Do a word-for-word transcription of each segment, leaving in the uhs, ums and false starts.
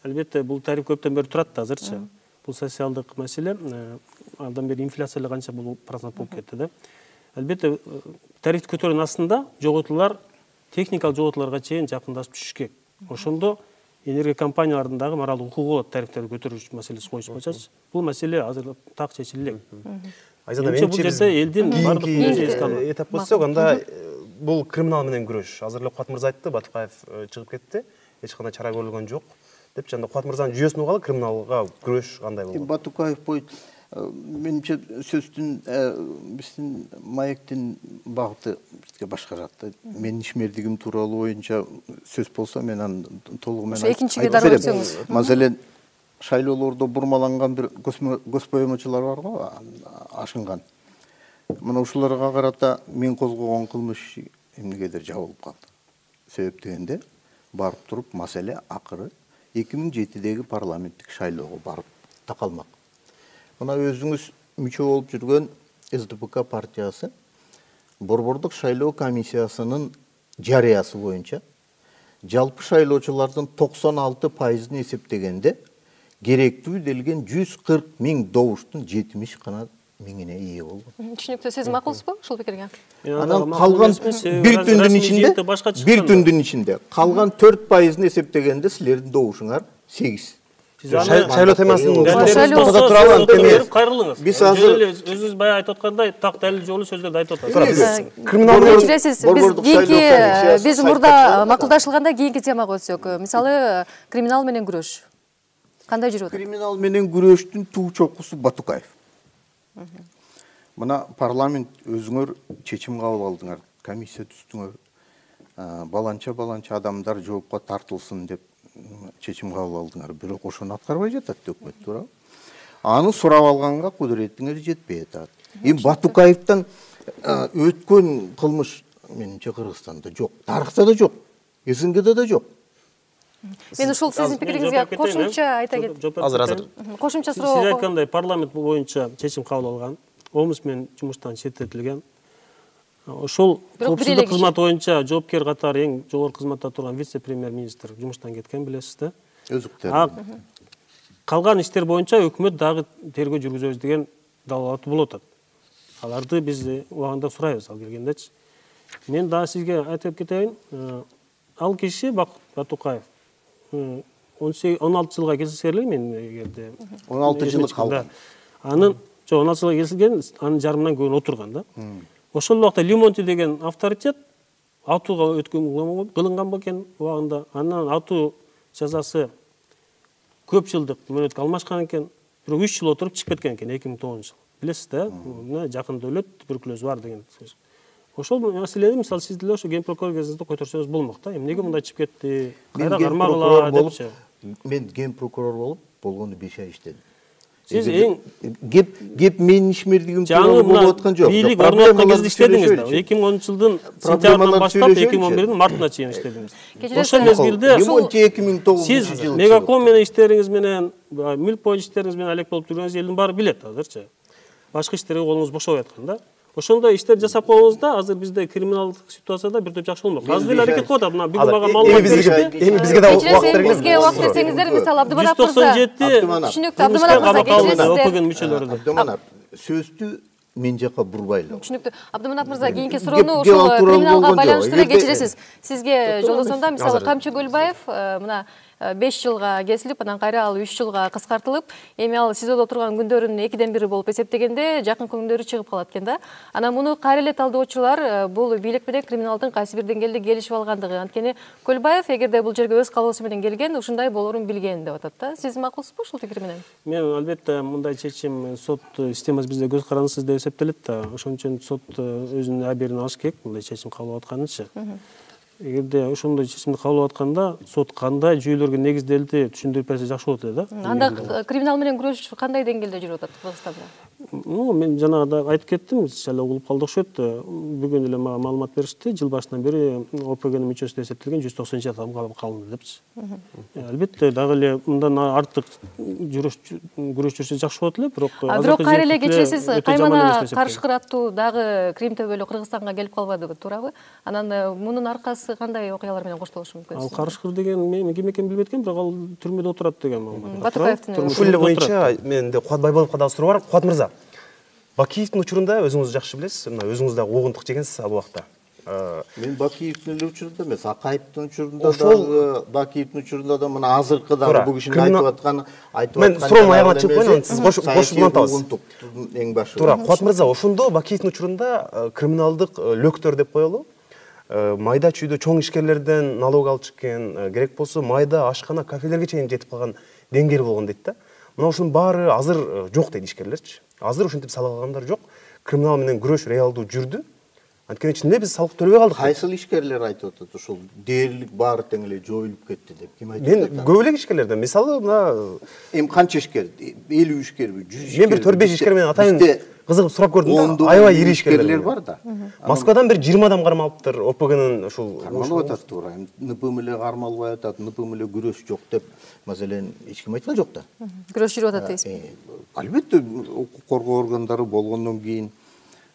албетте бул тариф көптөн бери турат да азырчы. Бул социалдык маселе. Андан бери инфляция канча бул процент болуп кетти да. Албетте тарифти көтөрүүнүн астында жоготуулар техникалык жоготууларга чейин жакындашып түшүш керек. Ошондо энергия компаниялардын дагы моралдык укугу болот тарифтерди көтөрүү маселеси коюшпачы. Бул маселе азыр так чечиле элек. Айзада менимче бул жерде элдин бардык этап көрсөк, анда бул криминал менен күрөш. Азыр эле Кубат мырза айтты, Батукаев чыгып кетти. Эч кандай чара көрүлгөн жок деп. Жанда Кубат мырзанын жүйөсүн угалы, криминалга күрөш кандай болот? Батукаев бойт менимче сөздүн биздин маектин багыты бизге башкарат. Менин ишмердигим тууралуу боюнча сөз болсо мен аны толугу менен айтып экинчиге дароо өтсөңүз. Маселен, шайлоолордо бурмаланган бир госпоемочулар бар го, ашынган. Мына ушуларга карата мен козгогон кылмыш эмнегедир жабылып калды. Себеп дегенде барып туруп маселе акыры эки миң жетидеги парламенттик шайлоого барып такалмак. Мына өзүңүз мүчө болуп жүргөн эс дэ пэ ка партиясы борбордук шайлоо комиссиясынын жарыясы боюнча жалпы шайлоочулардын токсон алты пайызын эсептегенде керектүү делген жүз кырк миң добуштун жетимиш гана миңине ээ болгон. Түшүнүктүү, сиз макулсузбу ушул пикирге? Анан калган бир түндүн ичинде, бир түндүн ичинде калган төрт пайызын эсептегенде силердин добушуңар сегиз. Шайлоо темасын токто туралы анткени кайрылыңыз. Биз азыр өзүңүз баягы айтып аткандай так далил жолу сөздөрдү айтып атасыз. Криминал кечиресиз. Биз кийинки биз мурда макулдашылганда кийинки темага өтсөк, мисалы криминал менен күрөш кандай жүрүп атат? Криминал менен күрөштүн туу чокусу Батукаев. Мына парламент өзүңөр чечим кабыл алдыңар, комиссия түздүңөр. Баланча-баланча адамдар жоопко тартылсын деп чечим кабыл алдыңар. Бирок ошону аткарбай жатат өкмөт, туурабы? Аны сурап алганга кудуретиңер жетпей атат. Эми Батукаевден өткөн кылмыш менимче Кыргызстанда жок, тарыхта да жок, эс эн гэде да жок. Мен ушул сиздин пикириңизге кошумча айта кетем. Азыр азыр. Кошумча суроо. Сиз айткандай парламент боюнча чечим кабыл алган, омусмен жумуштан четтетилген. Ошол коопсуздук кызматы боюнча жоопкер катары эң жогорку кызматта турган вице-премьер-министр жумуштан кеткен, билесиз да. Өзүктөр. Калган иштер боюнча өкмөт дагы тергөө жүргүзөбүз деген далалаты болуп атат. Аларды биз убагында сурайбыз ал келгендечи. Мен дагы сизге айтып кетейин, ал киши Батукаев он алты жылга келсеңер мен эгерде он алты жылы калган. Анын жок он алты жылга келсилген, анын жарымынан көбүн отурган да. Ошол убакта Лимонти деген авторитет атууга өткөн кылынган бекен убагында. Анан атуу жазасы көп жылдык мөөнөткө алмашкан экен. Бирок үч жыл отуруп чыгып кеткен экен эки миң тогузунчу жылы. Билесиз да, мына жакында өлөт, туберкулез бар деген сөз. Ошол маселени мисалы сиз деле ошо ген прокурор кезинде көтөрсөңүз болмок да. Эмнеге мындай чыгып кетти? Кайра кармагыла депчи. Мен ген прокурор болуп, болгону беш ай иштедим. Сиз эң геп геп менин ишмердигим тууралуу болуп аткан жок. Бийлик орноткон кезде иштедиңиз да. эки миң онунчу жылдын сентябрынан баштап эки миң он бирдин мартына чейин иштедиңиз. Ошол мезгилде эки миң тогузунчу сиз Мегаком менен иштериңиз менен, мүлк боюнча иштериңиз менен алек болуп жүргөнүңүз элдин баары билет азырчы. Башка иштерге колуңуз бошобой аткан да. Ошондой иштер жасап койгоңузда азыр бизде криминалдык ситуацияда бир топ жакшы болмок. Азыр эле аракет кылып атат. Мына бүгүн мага маалымат беришти. Эми бизге да убакыт бергиле. Бизге убакыт берсеңиздер, мисалы Абдыманап мырза. жүз токсон жети Түшүнүктүү, Абдыманап мырза кечиресиздер. Окуган мүчөлөрү. Абдыманап, сөздү мен жака бурбайлы. Түшүнүктүү. Абдыманап мырза кийинки суроону ушул криминалга байланыштыра кечиресиз. Сизге жолдосомдо мисалы Камчы Көлбаев мына беш жылга кесилип, анан кайра ал үч жылга кыскартылып, эми ал СИЗОдо турган күндөрүн экиден бири болуп эсептегенде жакынкы күндөрү чыгып калат экен да. Анан муну кайра эле талдоочулар бул бийлик менен криминалдын кайсы бир деңгээлде келишип алгандыгы. Анткени Көлбаев эгерде бул жерге өз калоосу менен келген, ушундай болорун билген деп атат да. Сиз макулсузбу ушул пикир менен? Мен албетте мындай чечим сот системасы бизде көз карандысыз деп эсептелет да. Ошон үчүн сот өзүнүн абийирин алыш керек, мындай чечим кабыл алып атканычы. Эгерде ошондой чечимди кабыл алып атканда сот кандай жүйөлөргө негизделди түшүндүрүп берсе жакшы болот эле да. Анда криминал менен күрөш кандай деңгээлде жүрүп атат Кыргызстанда? ну мен жанагыда айтып кеттим, сиз эле угулуп калды окшойт. Бүгүн эле мага маалымат беришти, жыл башынан бери ОПГнын мүчөсү деп эсептелген жүз токсон жети адам калынды депчи. Албетте дагы эле мындан артык жүрүш күрөш жүрсө жакшы болот эле, бирок бирок кайра эле кечиресиз каймана каршы кыраттуу дагы Крим төбөлү Кыргызстанга келип калбадыбы, туурабы? Анан мунун аркасы кандай окуялар менен коштолушу мүмкүн? Ал карышкыр деген мен ким экенин билбейт экенмин, бирок ал түрмөдө отурат деген маалымат. Батукаевдин ушул эле боюнча менде Кубат Байболовго дагы суроо бар. Кубат мырза, Бакиевдин учурунда өзүңүз жакшы билесиз, мына өзүңүз дагы огундук жегенсиз ал убакта. Мен Бакиевдин эле учурунда эмес, Акаевдин учурунда дагы, Бакиевдин учурунда да мына азыркы дагы бул кишинин айтып атканы, айтып аткан. Мен суроонун аягына чыгып коеюн, сиз кош улантабыз. Эң башы. Туура, Кубат мырза, ошондо Бакиевдин учурунда криминалдык лөктөр деп коелу. Майда чүйдө чоң ишкерлерден налог алып чыккен, керек болсо майда ашкана, кафелерге чейин жетип калган деңгээл болгон дейт да. Мына ушунун баары азыр жок дейт ишкерлерчи. Азыр ушинтип салык алгандар жок. Криминал менен күрөш реалдуу жүрдү. Анткени ичинде биз салык төлөбөй калдык. Кайсыл ишкерлер айтып атат, ушул дээрлик баары тең эле жоюлуп кетти деп ким айтып атат? Мен көп эле ишкерлерден, мисалы мына эми канча ишкер? элүү ишкерби, жүз ишкер? Мен бир төрт беш ишкер менен атайын кызыгып сурап көрдүм да, аябай ири ишкерлер бар да. Москвадан бир жыйырма адам кармалыптыр, ОПГнын ушул кармалып атат, туура. НПМ эле кармалбай атат, НПМ эле күрөш жок деп, маселен, эч ким айткан жок да. Күрөш жүрүп атат дейсизби? Албетте, укук коргоо органдары болгондон кийин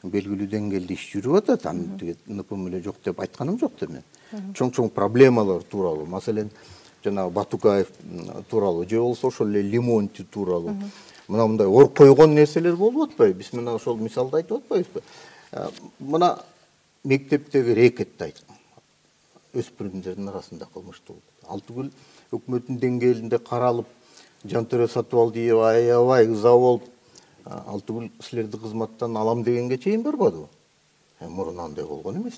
белгилүү деңгээлде иш жүрүп атат. Аны НПМ эле жок деп айтканым жок да мен. Чоң-чоң проблемалар тууралуу, маселен, жанагы Батукаев тууралуу, же болсо ошол эле Лимонти тууралуу. Мына мындай ор койгон нерселер болуп атпайбы? Биз мына ошол мисалды айтып атпайбызбы? Мына мектептеги рекетти айт. Өспүрүмдөрдүн арасында кылмыштуу. Ал түгүл өкмөттүн деңгээлинде каралып, Жантөре Сатыбалдиева аябай ыза болуп, ал түгүл силерди кызматтан алам дегенге чейин барбадыбы? Мурун андай болгон эмес.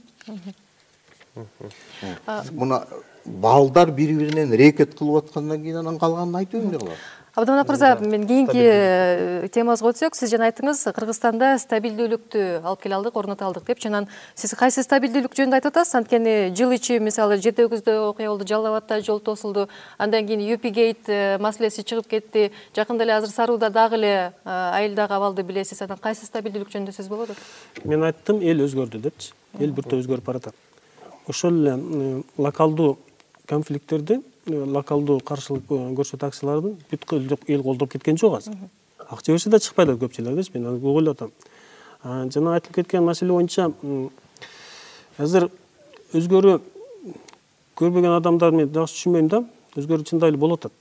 Мына балдар бири-биринен рекет кылып аткандан кийин анан калганын айтып эмне кылат? Абдыманап мырза, мен кийинки темабызга өтсөк, сиз жана айттыңыз, Кыргызстанда стабилдүүлүктү алып келе алдык, орното алдык деп. Жанан сиз кайсы стабилдүүлүк жөнүндө айтып атасыз? Анткени жыл ичи мисалы жети өгүздө окуя болду, Жалал Абадта жол тосулду, андан кийин Юпигейт маселеси чыгып кетти. Жакында эле азыр Саруудо дагы эле айылдагы абалды билесиз. Анан кайсы стабилдүүлүк жөнүндө сөз болуп атат? Мен айттым, эл өзгөрдү депчи. Эл биртө өзгөрүп баратат. Ошол эле локалдуу конфликттерди, локалдуу каршылык көрсөтүү акциялардын бүткүл эл колдоп кеткен жок азыр. Акча берсе да чыкпайт көпчүлөрдөчү, мен аны ойлоп атам. Жана айтылып кеткен маселе боюнча азыр өзгөрүү көрбөгөн адамдар мен жакшы түшүнбөйм да, өзгөрүү чындап эле болуп атат.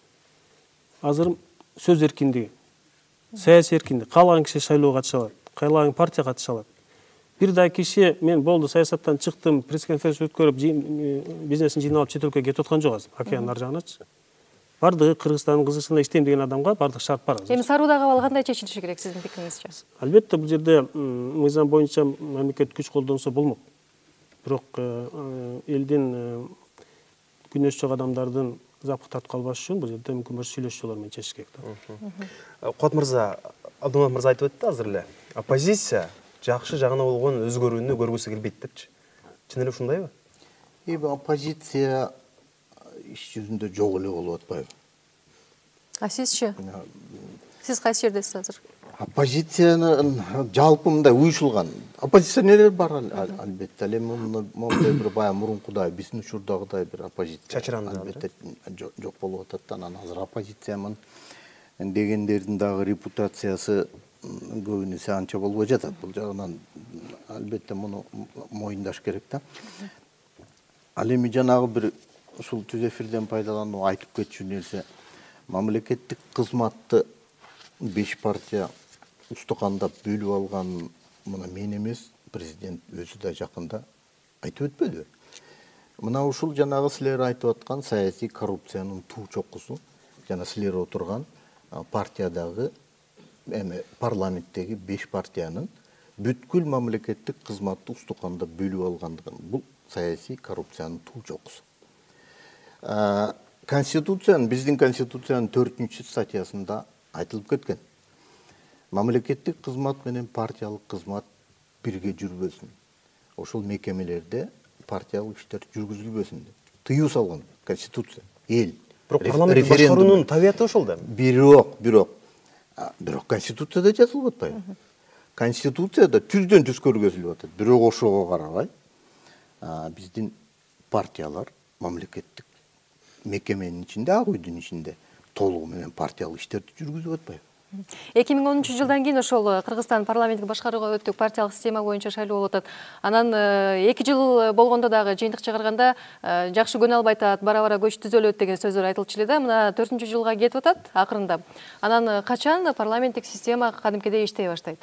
Азыр сөз эркиндиги, саясий эркиндик, каалаган киши шайлоого катыша алат, каалаган партия катыша алат. Бир да киши мен болду саясаттан чыктым, пресс-конференция өткөрүп, бизнесин жыйнап алып чет өлкөгө кетип аткан жок азыр, океандын ар жагыначы. Бардыгы Кыргызстандын кызыкчылыгында иштейм деген адамга бардык шарт бар азыр. Эми Саруудагы абал кандай чечилиши керек сиздин пикириңизче? Албетте, бул жерде мыйзам боюнча мамлекет күч колдонсо болмок. Бирок элдин күнөөсү жок адамдардын запкы тартып калбаш үчүн бул жерде мүмкүн болсо сүйлөшүү жолдору менен чечиш керек да. Кубат мырза, Абдыманап мырза айтып өттү азыр эле. Оппозиция жакшы жагына болгон өзгөрүүнү көргүсү келбейт депчи. Чын эле ушундайбы? Эми оппозиция иш жүзүндө жок эле болуп атпайбы? А сизчи? Сиз кайсы жердесиз азыр? Оппозициянын жалпы мындай уюшулган оппозиционерлер бар албетте. Ал эми мондай бир бая мурункудай биздин учурдагыдай бир оппозиция чачыранды албетте жок болуп атат. Анан азыр оппозициямын дегендердин дагы репутациясы көбүнесе анча болбой жатат. Бул жагынан албетте муну моюндаш керек да. Ал эми жанагы бир ушул түз эфирден пайдаланып айтып кетчү нерсе, мамлекеттик кызматты беш партия устукандап бөлүп алган мына мен эмес, президент өзү да жакында айтып өтпөдүбү? Мына ушул жанагы силер айтып аткан саясий коррупциянын туу чокусу, жана силер отурган партиядагы эми парламенттеги беш партиянын бүткүл мамлекеттик кызматты устукандап бөлүп алгандыгын, бул саясий коррупциянын туу чокусу. Конституциянын, биздин конституциянын төртүнчү статьясында айтылып кеткен. Мамлекеттик кызмат менен партиялык кызмат бирге жүрбөсүн. Ошол мекемелерде партиялык иштер жүргүзүлбөсүн деп тыюу салган конституция. Эл. Бирок парламенттик башкаруунун табияты ошол да. Бирок, бирок, бирок конституцияда жазылып атпайбы? Конституцияда түздөн түз көргөзүлүп атат. Бирок ошого карабай биздин партиялар мамлекеттик мекеменин ичинде, ак үйдүн ичинде толугу менен партиялык иштерди жүргүзүп атпайбы? эки миң онунчу жылдан кийин ошол Кыргызстан парламенттик башкарууга өттүк, партиялык система боюнча шайлоо болуп атат. Анан эки жыл болгондо дагы жыйынтык чыгарганда жакшы көнө албай атат, бара-бара көч түзөлөт деген сөздөр айтылчу эле да. Мына төртүнчү жылга кетип атат акырында. Анан качан парламенттик система кадимкидей иштей баштайт?